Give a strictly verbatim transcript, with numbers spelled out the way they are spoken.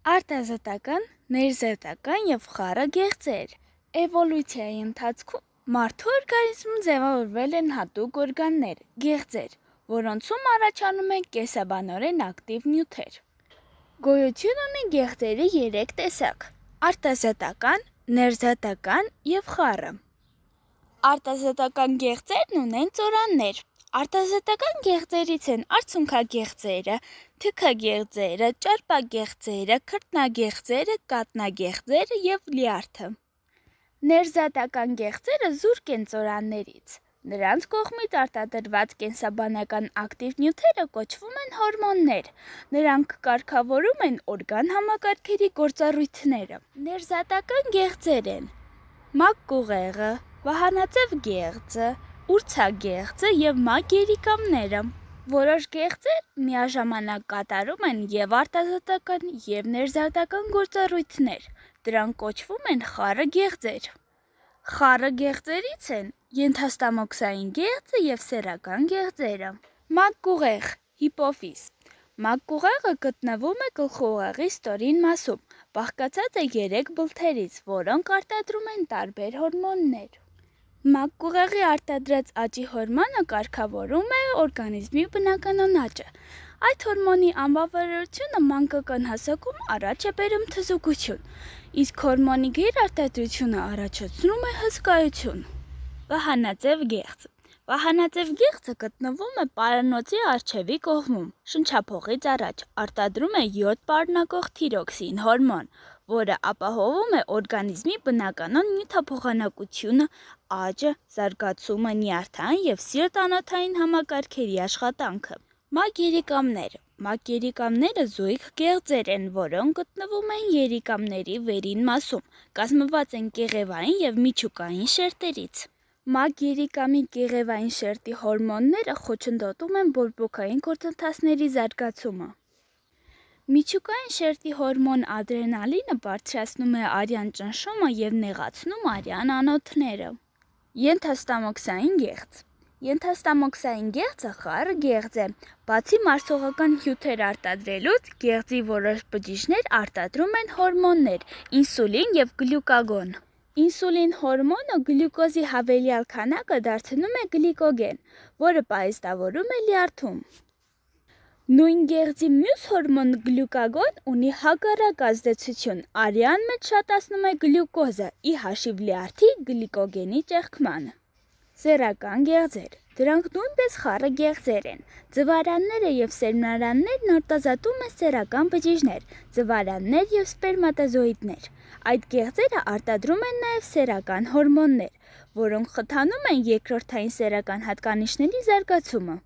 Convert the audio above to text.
Արտազատական, ներզատական և խառը գեղձեր։ Էվոլյուցիայի ընթացքում մարդու օրգանիզմում ձևավորվել են հատուկ օրգաններ, գեղձեր, որոնցում առաջանում են կենսաբանորեն ակտիվ նյութեր։ Գոյություն ունի գեղձերի երեք տեսակ՝ արտազատական, ներզատական և խառը։ Արտազատական գեղձերն ունեն ծորաններ։ Արտազատական գեղձերից են արցունքագեղձերը, թիքագեղձերը, ճարպագեղձերը, քրտնագեղձերը, կատնագեղձերը և լյարդը։ Ներզատական գեղձերը զուրկ են ծորաններից։ Նրանց կողմից արտադրված կենսաբանական ակտիվ նյութերը կոչվում են հորմոններ։ Նրանք կարգավորում են օրգան համակարգերի գործառույթները։ Ներզատական գեղձեր են մակկուղեղը, վահանաձև գեղձը, ուրցագեղձը և մակերիկամները։ Որոշ գեղձեր միաժամանակ կատարում են և արտազատական, և ներզատական գործառույթներ։ Դրանք կոչվում են խառը գեղձեր։ Խառը գեղձերից են ենթաստամոքսային գեղձը և սեռական գեղձերը։ Մակկուղեղ, հիպոֆիզ։ Մակկուղեղը գտնվում է գլխուղեղի ստորին մասում, բաղկացած է երեք բլթերից, որոնք արտադրում են տարբեր հորմոններ։ Մակկուղեղի արտադրած աճի հորմոնը կարգավորում է օրգանիզմի բնականոն աճը։ Այդ հորմոնի անբավարարությունը մանկական հասակում առաջ է բերում թզուկություն, իսկ հորմոնի գերարտադրությունը առաջացնում է հսկայություն։ Վահանաձև գեղձ։ Վահանաձև գեղձը գտնվում է պարանոցի առջևի կողմում, շնչափողից առաջ, արտադրում է յոդ պարունակող թիրոքսին հորմոն, որը ապահովում է օրգանիզմի բնականոն նյութափոխանակությունը, աճը, զարգացումը, նյարդային և սիրտ-անոթային համակարգերի աշխատանքը։ Մակերիկամներ։ Մակերիկամները զույգ գեղձեր են, որոնք գտնվում են երիկամների վերին մասում, կազմված են կեղևային և միջուկային շերտերից։ Մակերիկամի կեղևային շերտի հորմոնները խոչընդոտում են բորբոքային գործընթացների զարգացումը։ Միջուկային շերտի հորմոն ադրենալինը բարձրացնում է արյան ճնշումը և նեղացնում արյան անոթները։ Ենթաստամոքսային գեղձ։ Ենթաստամոքսային գեղձը խառը գեղձ է։ Բացի մարսողական հյութեր արտադրելուց, գեղձի որոշ բջիջներ արտադրում են հորմոններ՝ ինսուլին և գլյուկագոն։ Ինսուլին հորմոնը գլյուկոզի հավելյալ քանակը դարձնում է գլիկոգեն, որը պահեստավորում է լյարդում։ Նույն գեղձի մյուս հորմոն գլյուկագոն ունի հակառակ ազդեցություն՝ արյան մեջ շատացնում է գլյուկոզը՝ ի հաշիվ լյարդի գլիկոգենի ճեղքման։ Սեռական գեղձեր։ Դրանք նույնպես խառը գեղձեր են։ Ձվարանները և սերմնարաններն արտազատում են սեռական բջիջներ՝ ձվարաններ և սպերմատոզոիդներ։ Այդ գեղձերը արտադրում են նաև սեռական հորմոններ, որոնք խթանում են երկրորդային սեռական հատկանիշների զարգացումը։